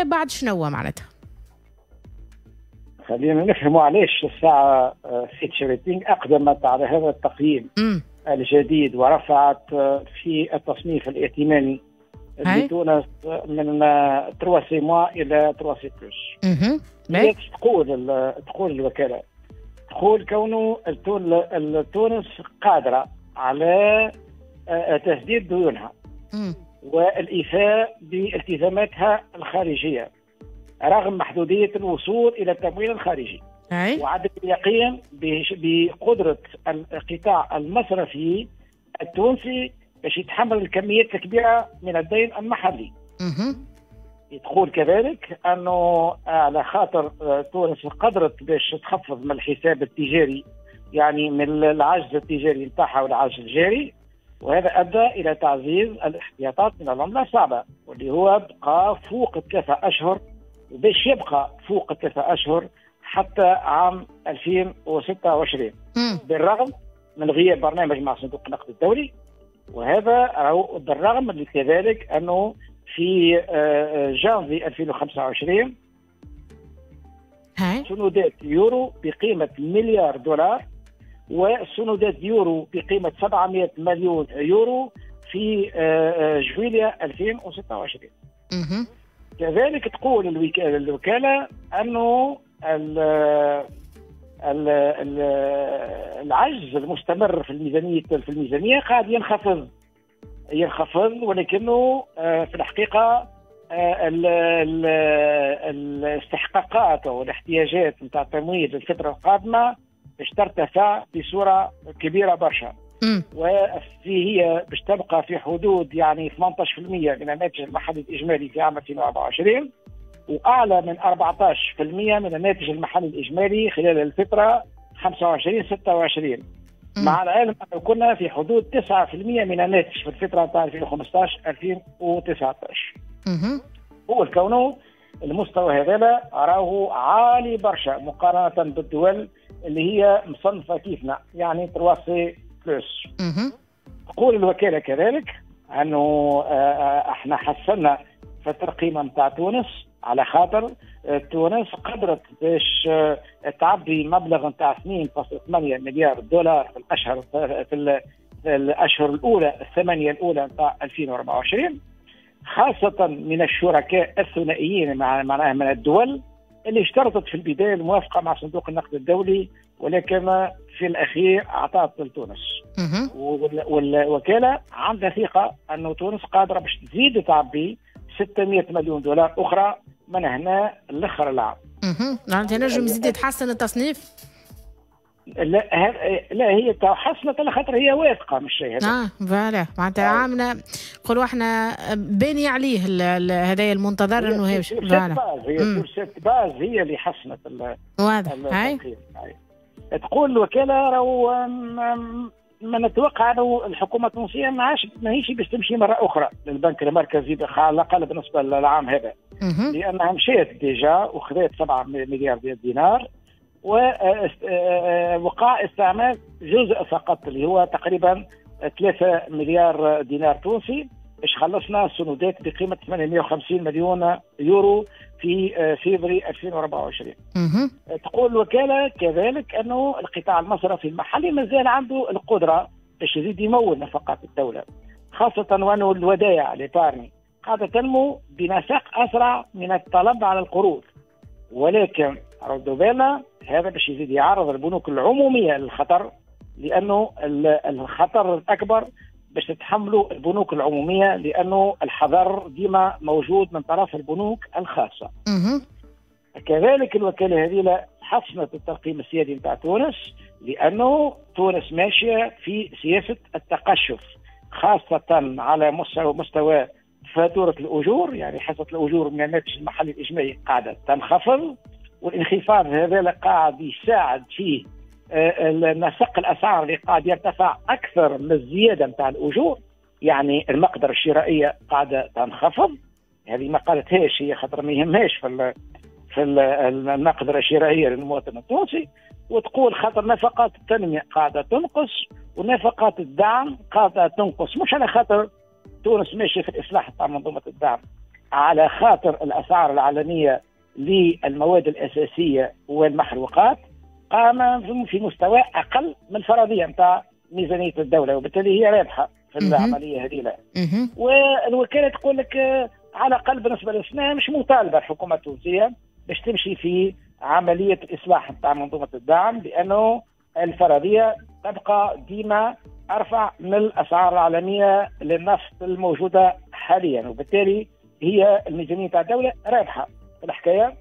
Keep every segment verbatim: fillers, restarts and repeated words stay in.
جاء بعد شنو معناتها؟ خلينا نفهموا علاش الساعة فيتش ريتينغ اقدمت على هذا التقييم م. الجديد ورفعت في التصنيف الائتماني لتونس من ثلاثة C moins الى ثلاثة C plus. تقول تقول الوكالة تقول كونه تونس قادرة على تسديد ديونها والايفاء بالتزاماتها الخارجية رغم محدودية الوصول الى التمويل الخارجي، وعدم اليقين بقدره القطاع المصرفي التونسي باش يتحمل الكميات الكبيرة من الدين المحلي. تقول كذلك انه على خاطر تونس قدرت باش تخفض من الحساب التجاري، يعني من العجز التجاري نتاعها والعجز الجاري، وهذا ادى الى تعزيز الاحتياطات من العملة الصعبة واللي هو بقى فوق ثلاثة اشهر، وباش يبقى فوق ثلاثة اشهر حتى عام ألفين وستة وعشرين، بالرغم من غياب برنامج مع صندوق النقد الدولي. وهذا بالرغم من كذلك انه في جانفي ألفين وخمسة وعشرين سندات يورو بقيمة مليار دولار وسندات يورو بقيمة سبعمئة مليون يورو في جويليا ألفين وستة وعشرين. كذلك تقول الوكالة أنه العجز المستمر في الميزانية في الميزانية قاعد ينخفض ينخفض ولكنه في الحقيقة الاستحقاقات أو الاحتياجات نتاع التمويل للفترة القادمة باش ترتفع بصورة كبيرة برشا، وفي هي باش تبقى في حدود يعني ثمانية عشر بالمئة من الناتج المحلي الإجمالي في عام ألفين وأربعة وعشرين، وأعلى من أربعة عشر بالمئة من الناتج المحلي الإجمالي خلال الفترة خمسة وعشرين ستة وعشرين، مع العلم أنه كنا في حدود تسعة بالمئة من الناتج في الفترة تاع ألفين وخمسة عشر ألفين وتسعة عشر. هو كونه المستوى هذا راهو عالي برشا مقارنة بالدول اللي هي مصنفة كيفنا، يعني ثلاثة C plus. تقول الوكالة كذلك أنه احنا حسنا في الترقيمة نتاع تونس على خاطر تونس قدرت باش تعبي مبلغ نتاع اثنين فاصلة ثمانية مليار دولار في الاشهر في الاشهر الاولى الثمانية الاولى نتاع ألفين وأربعة وعشرين، خاصة من الشركاء الثنائيين مع معناها من الدول اللي اشترطت في البداية الموافقة مع صندوق النقد الدولي، ولكن في الاخير اعطت لتونس. والوكالة عندها ثقة انه تونس قادرة باش تزيد تعبي ستمئة مليون دولار اخرى من هنا لاخر العام. اها معناتها نجم يزيد يتحسن التصنيف؟ لا لا هي تحسنت على خاطر هي واثقة من الشيء هذا. اه voilà معناتها عامنا نقولوا احنا باني عليه هذايا المنتظر انه هي voilà هي sur cette base هي اللي حسنت. واضح. هاي تقول الوكالة راهو ما نتوقع انه الحكومة التونسية ما عادش ماهيش باش تمشي مرة اخرى للبنك المركزي على الاقل بالنسبة للعام هذا، لانها مشات déjà وخذت سبعة مليار دينار ووقع استعمال جزء فقط اللي هو تقريبا ثلاثة مليار دينار تونسي باش خلصنا السندات بقيمة ثمانمئة وخمسين مليون يورو في فبراير ألفين وأربعة وعشرين. تقول الوكالة كذلك أنه القطاع المصرفي المحلي مازال عنده القدرة باش يزيد يمول نفقات الدولة، خاصة وأنه الودائع l'épargne قاعدة تنمو بنسق أسرع من الطلب على القروض، ولكن ردوا بالنا هذا باش يزيد يعرض البنوك العمومية للخطر، لأنه الخطر الأكبر باش تتحملوا البنوك العمومية، لأنه الحذر ديما موجود من طرف البنوك الخاصة. كذلك الوكالة هذه حسنت الترقيم السيادي نتاع تونس، لأنه تونس ماشية في سياسة التقشف، خاصة على مستوى مستوى فاتورة الأجور، يعني حصة الأجور من الناتج المحلي الإجمالي قاعدة تنخفض، والانخفاض هذا قاعد يساعد فيه نسق الاسعار اللي قاعد يرتفع اكثر من الزيادة نتاع الاجور، يعني المقدرة الشرائية قاعدة تنخفض. هذه ما قالتهاش هي خاطر ما يهمهاش في في المقدرة الشرائية للمواطن التونسي، وتقول خاطر نفقات التنمية قاعدة تنقص ونفقات الدعم قاعدة تنقص، مش على خاطر تونس ماشية في الاصلاح تاع منظومة الدعم، على خاطر الأسعار العالمية للمواد الأساسية والمحروقات قام في مستوى أقل من الفرضية نتاع ميزانية الدولة، وبالتالي هي رابحة في العملية هذه. والوكالة تقول لك على الأقل بالنسبة للسنة مش مطالبة الحكومة التونسية باش تمشي في عملية الإصلاح نتاع منظومة الدعم، لأنه الفرضية تبقى ديما أرفع من الأسعار العالمية للنفط الموجودة حاليا، وبالتالي هي الميزانية تاع الدولة رابحة في الحكاية.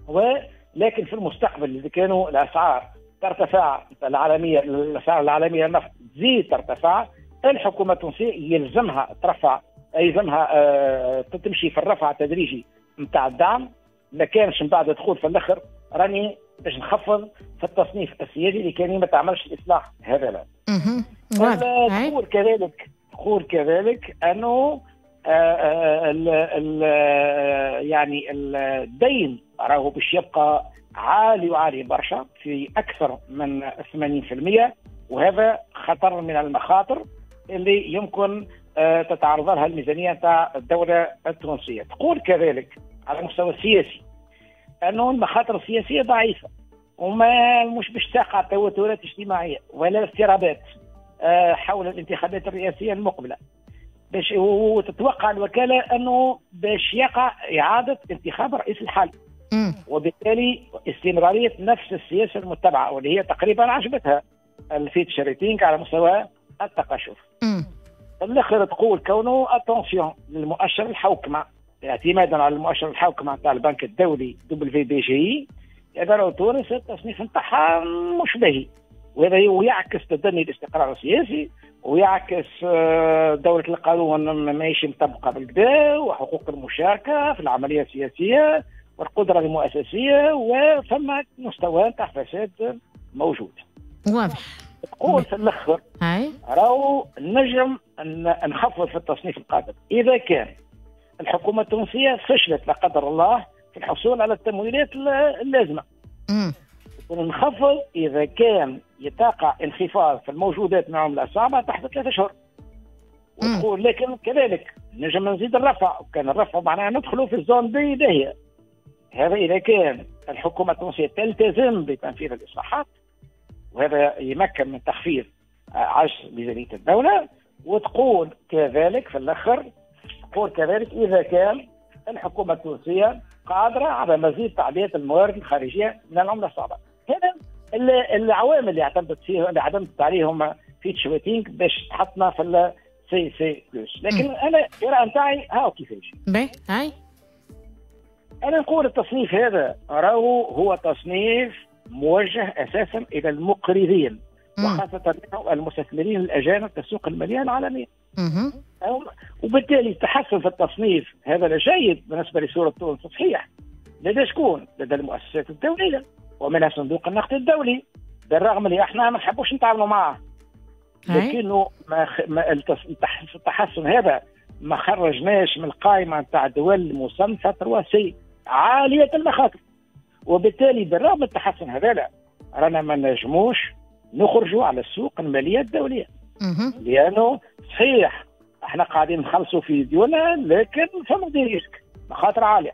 ولكن في المستقبل إذا كانوا الأسعار ترتفع العالمية، الأسعار العالمية للنفط تزيد ترتفع، الحكومة التونسية يلزمها ترفع، يلزمها آه تمشي في الرفع التدريجي نتاع الدعم. ما كانش من بعد دخول في الاخر راني باش نخفض في التصنيف السيادي اللي كان ما تعملش الاصلاح هذا. لا تقول كذلك، تقول كذلك انه آه ال ال يعني الدين راهو باش يبقى عالي وعالي برشا في اكثر من ثمانين بالمئة، وهذا خطر من المخاطر اللي يمكن آه تتعرض لها الميزانية تاع الدولة التونسية. تقول كذلك على المستوى السياسي أنه المخاطر السياسية ضعيفة وما مش باش تقع توترات اجتماعية ولا اضطرابات حول الانتخابات الرئاسية المقبلة، باش وتتوقع الوكالة أنه باش يقع إعادة انتخاب رئيس الحالي، وبالتالي استمرارية نفس السياسة المتبعة واللي هي تقريبا عجبتها ال Fitch Ratings على مستوى التقشف. الآخر تقول كونه attention للمؤشر الحوكمة، اعتمادا على المؤشر الحوكمة نتاع البنك الدولي WBGI، يقدروا تونس التصنيف نتاعها مش باهي، وهذا ويعكس تدني الاستقرار السياسي، ويعكس دولة القانون ماهيش مطبقة بالكدا، وحقوق المشاركة في العملية السياسية والقدرة المؤسسية، وفما مستوى تاع فساد موجود. واضح. تقول في الاخر راهو نجم نخفض في التصنيف القادم إذا كان الحكومة التونسية فشلت لا قدر الله في الحصول على التمويلات اللازمة. ونخفض إذا كان يتقع انخفاض في الموجودات من عملة صعبة تحت ثلاثة أشهر. وتقول لكن كذلك نجم نزيد الرفع، وكان الرفع معناها ندخلوا في ال zone B باهية. هذا إذا كان الحكومة التونسية تلتزم بتنفيذ الإصلاحات، وهذا يمكن من تخفيض عجز ميزانية الدولة. وتقول كذلك في الآخر، تقول كذلك إذا كان الحكومة التونسية قادرة على مزيد تعبئة الموارد الخارجية من العملة الصعبة. هذا العوامل اللي اعتمدت فيه، اللي اعتمدت عليهم Fitch Ratings باش تحطنا في ال CC plus. لكن انا القراءة نتاعي هاو كيفاش. باهي هاي انا نقول التصنيف هذا راهو هو تصنيف موجه اساسا الى المقرضين، وخاصة المستثمرين الاجانب في السوق المالية العالمية. وبالتالي التحسن في التصنيف هذا جيد بالنسبة لصورة تونس، صحيح. لدى شكون؟ لدى المؤسسات الدولية ومنها صندوق النقد الدولي، بالرغم اللي احنا ما نحبوش نتعاملوا معه، لكنه ما ما التحسن هذا ما خرجناش من القائمة نتاع دول مصنفه ثلاثة C عالية المخاطر. وبالتالي بالرغم من التحسن هذا لا رانا ما نجموش نخرجوا على السوق المالية الدولية، لانه صحيح احنا قاعدين نخلصوا في ديوننا، لكن فما des risques مخاطر عالية.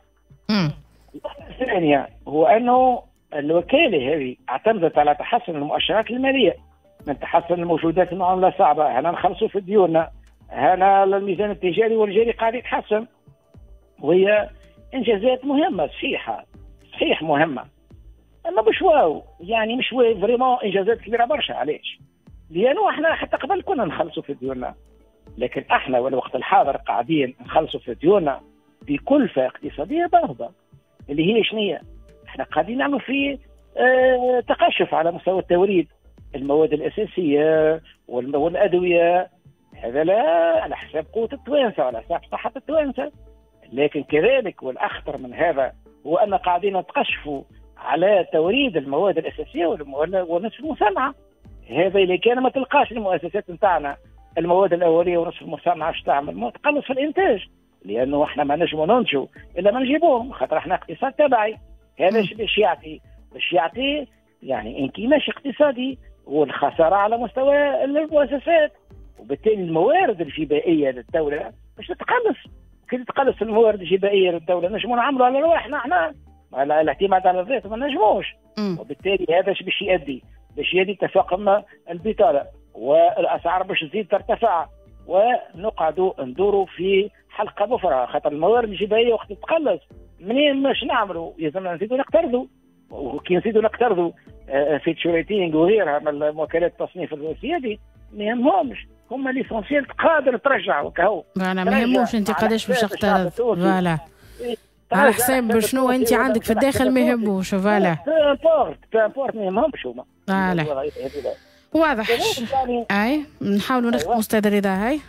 الثانية هو انه الوكالة هذه اعتمدت على تحسن المؤشرات المالية، من تحسن الموجودات المعاملة صعبة، هنا نخلصوا في ديوننا، هنا الميزان التجاري والجاري قاعد يتحسن، وهي انجازات مهمة صحيحه، صحيح مهمة، اما مش واو، يعني مش واو vraiment انجازات كبيرة برشا. علاش؟ لانه احنا حتى قبل كنا نخلصوا في ديوننا، لكن احنا والوقت الحاضر قاعدين نخلصوا في ديوننا بكلفه اقتصادية باهظه، اللي هي شنية؟ احنا قاعدين نعملوا في اه تقشف على مستوى التوريد المواد الاساسية والادوية، هذا لا على حساب قوة التوانسة وعلى حساب صحة التوانسة. لكن كذلك والاخطر من هذا هو ان قاعدين نتقشفوا على توريد المواد الاساسية والنصف المصنعة. هذا اللي كان ما تلقاش المؤسسات نتاعنا المواد الاولية ونصف المصنعة اش تعمل؟ ما تقلص في الانتاج، لانه احنا ما نجموا ننتجوا الا ما نجيبوهم، خاطر احنا اقتصاد تبعي. هذا باش يعطي باش يعطي يعني انكماش اقتصادي والخسارة على مستوى المؤسسات، وبالتالي الموارد الجبائيه للدولة باش تتقلص. كي تتقلص الموارد الجبائيه للدولة نجموا نعملوا على رواحنا احنا، على الاعتماد على الذات ما نجموش. وبالتالي هذا باش يؤدي باش يؤدي تفاقم البطالة والاسعار باش تزيد ترتفع، ونقعدوا ندوروا في حلقة مفرغة، خاطر الموارد الجبائيه وقت تتقلص منين باش نعملوا؟ لازمنا نزيدوا نقترضوا، وكي نزيدوا نقترضوا Fitch Ratings وغيرها من وكالات التصنيف السيادي ما يهمهمش، هما l'essentiel قادر ترجع وكهو. voilà ما يهموش انت قداش باش تقترض، voilà على حساب شنو انت عندك في الداخل ما يهموش. voilà peu importe peu importe ما يهمهمش هما. voilà واضح. اي نحاولوا نختموا استاذ رضا. هاي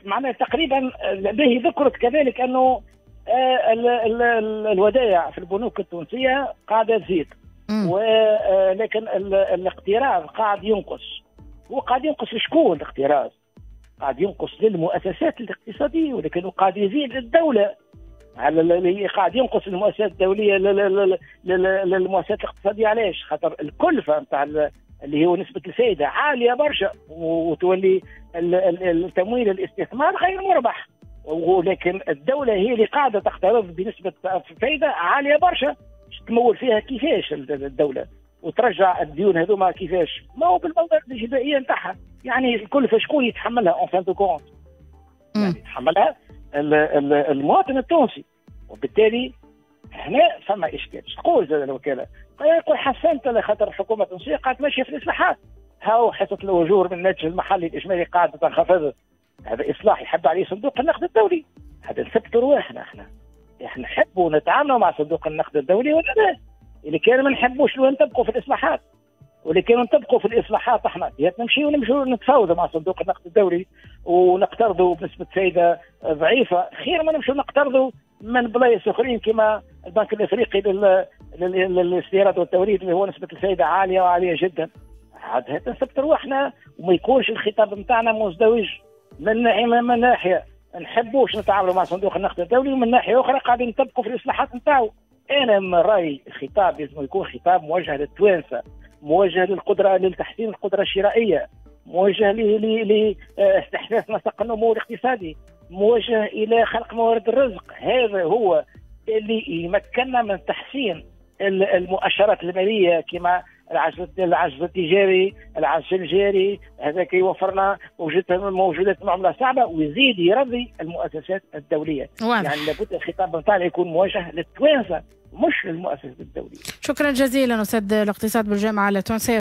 معناها تقريبا به ذكرت كذلك انه الودائع في البنوك التونسية قاعدة تزيد، ولكن الاقتراض قاعد ينقص. هو قاعد ينقص لشكون الاقتراض؟ قاعد ينقص للمؤسسات الاقتصادية، ولكن قاعد يزيد للدولة. على قاعد ينقص المؤسسات الدولية للمؤسسات الاقتصادية. علاش؟ خاطر الكلفة نتاع اللي هو نسبه الفائدة عالية برشا، وتولي التمويل الاستثمار غير مربح، ولكن الدولة هي اللي قاعدة تقترض بنسبة فائدة عالية برشا، تمول فيها كيفاش الدولة وترجع الديون هذوما كيفاش؟ ما هو بالموارد الجبائيه نتاعها، يعني الكلفة شكون يتحملها en fin de compte؟ يعني يتحملها المواطن التونسي. وبالتالي هنا فما اشكال. تقول زاد الوكالة يقول حسنت لخاطر الحكومة التونسية قاعدة ماشية في الاصلاحات، هاو حصة الاجور من الناتج المحلي الاجمالي قاعدة تنخفض، هذا اصلاح يحب عليه صندوق النقد الدولي. هذا نثبتوا رواحنا احنا، احنا نحبوا نتعاملوا مع صندوق النقد الدولي ولا لا؟ اللي كان ما نحبوش لو نطبقوا في الاصلاحات، واللي كانوا نطبقوا في الاصلاحات احنا نمشيو نمشيو نتفاوضوا مع صندوق النقد الدولي ونقترضوا بنسبة فائدة ضعيفة، خير ما نمشيو نقترضوا من بلايص اخرين كما البنك الافريقي للاستيراد والتوريد اللي هو نسبه الفائدة عالية وعاليه جدا. عاد نثبت رواحنا وما يكونش الخطاب نتاعنا مزدوج. من ناحية من ناحية نحبوش نتعاملوا مع صندوق النقد الدولي، ومن ناحية اخرى قاعدين نطبقوا في الاصلاحات نتاعو. انا من رايي الخطاب لازم يكون خطاب موجه للتوانسه، موجه للقدرة لتحسين القدرة الشرائية، موجه لاستحداث نسق النمو الاقتصادي، موجه الى خلق موارد الرزق. هذا هو اللي يمكننا من تحسين المؤشرات المالية كما العجز العجز التجاري، العجز الجاري، هذا يوفرنا موجودات معاملة صعبة ويزيد يرضي المؤسسات الدولية. واضح. يعني لابد الخطاب نتاعنا يكون موجه للتوانسه مش للمؤسسات الدولية. شكرا جزيلا استاذ الاقتصاد بالجامعة التونسية.